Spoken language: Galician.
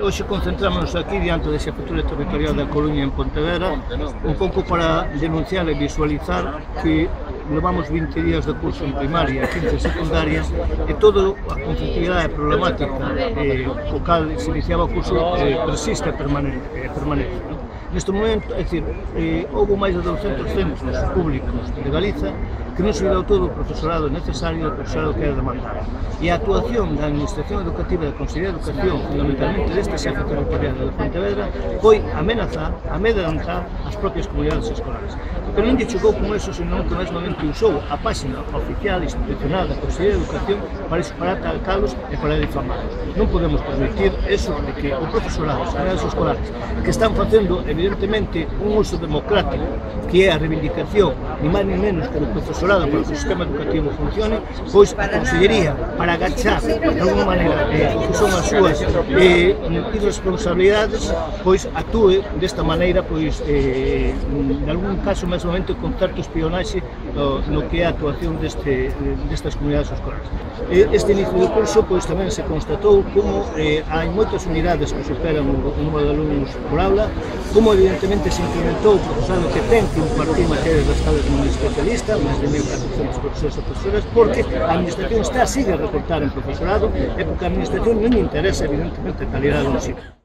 Hoxe concentramos aquí diante da Xefatura Territorial da Coruña en Pontevedra un pouco para denunciar e visualizar que levamos 20 días de curso en primaria, 15 en secundaria e toda a conflictividade problemática co cal se iniciaba o curso persiste permanente. Neste momento, é dicir, houve máis de 200 centros públicos de Galiza que non se deu todo o profesorado necesario, o profesorado que era demandado. E a actuación da Administración Educativa e da Consellería de Educación, fundamentalmente deste xefe territorial de Pontevedra, foi amedrentar as propias comunidades escolares. Pero non lle chegou con eso, senón que mesmamente usou a página oficial institucional da Consellería de Educación para atacalos e para difamarlos. Non podemos permitir eso de que o profesorado, as comunidades escolares, que están facendo, evidentemente, un uso democrático, que é a reivindicación, ni máis ni menos que o profesorado para que o sistema educativo funcione, pois a Consellería, para agachar, de alguma maneira, que son as súas irresponsabilidades, pois actúe desta maneira, pois, en algún caso, mesmamente, con certo espionaxe no que é a actuación destas comunidades escolares. Este inicio do curso, pois, tamén se constatou como hai moitas unidades que superan o número de alumnos por aula, como evidentemente se incrementou o profesorado que ten que impartir materias das salas de un especialista, máis de 1.400 profesores e profesoras, porque a Administración sigue a recortar en profesorado e porque a Administración non lle interesa, evidentemente, a calidade do ensino.